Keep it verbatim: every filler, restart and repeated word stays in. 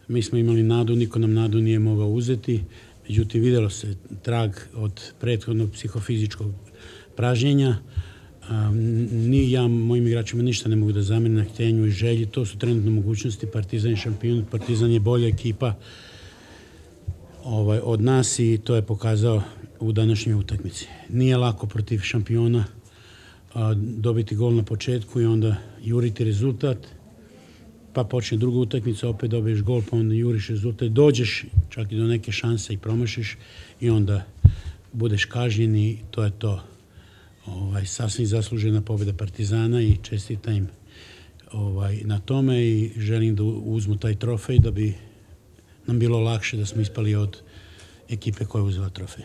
Mi smo imali nadu, niko nam nadu nije mogao uzeti. Međutim, vidjelo se trag od prethodnog psihofizičkog pražnjenja. Ni ja, mojim igračima ništa ne mogu da zamene na htenju i želji. To su trenutno mogućnosti. Partizan je šampion, Partizan je bolja ekipa ovaj, od nas i to je pokazao u današnjoj utakmici. Nije lako protiv šampiona a, dobiti gol na početku i onda juriti rezultat, pa počne druga utakmica, opet dobiješ gol, pa onda juriš rezultat, dođeš čak i do neke šanse i promašiš i onda budeš kažnjen i to je to. Ovaj, sasvim zaslužena pobjeda Partizana i čestitam im ovaj, na tome i želim da uzmu taj trofej da bi nam bilo lakše da smo ispali od ekipe koja je uzela trofej.